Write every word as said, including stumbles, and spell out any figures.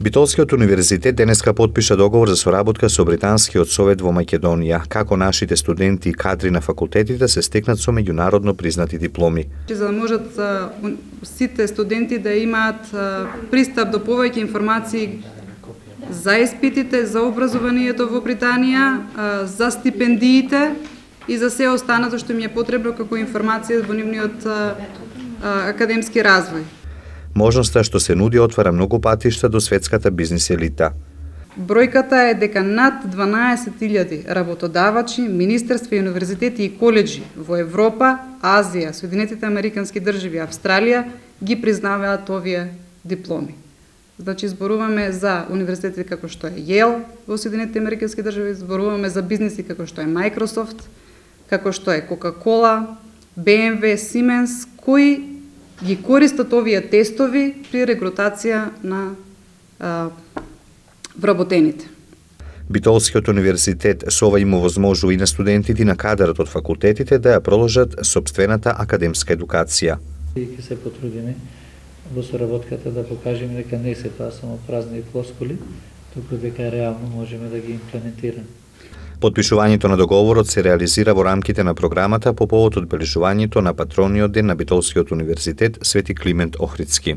Битолскиот универзитет денеска потпиша договор за соработка со Британскиот совет во Македонија, како нашите студенти и кадри на факултетите се стекнат со меѓународно признати дипломи. За да можат сите студенти да имаат пристап до повеќе информации за испитите, за образованието во Британија, за стипендиите и за се останато што им е потребно како информација во нивниот академски развој. Можноста што се нуди отвара многу патишта до светската бизнис елита. Бројката е дека над дванаесет илјади работодавачи, министерства, универзитети и коледжи во Европа, Азија, Соединетите Американски држави, Австралија ги признаваат овие дипломи. Значи, зборуваме за универзитети како што е Йейл во Соединетите Американски држави, зборуваме за бизниси како што е Microsoft, како што е Coca-Cola, Б М В, Siemens, кои ги користат овие тестови при регрутација на а, вработените. Битолскиот универзитет со ова има возможува и на студентите и на кадарот од факултетите да ја продолжат сопствената академска едукација. И ќе се потрудиме во соработката да покажеме дека не се тоа само празни флоскули, туку дека реално можеме да ги имплементираме. Потпишувањето на договорот се реализира во рамките на програмата по повод одбележувањето на патрониот ден на Битолскиот универзитет Свети Климент Охридски.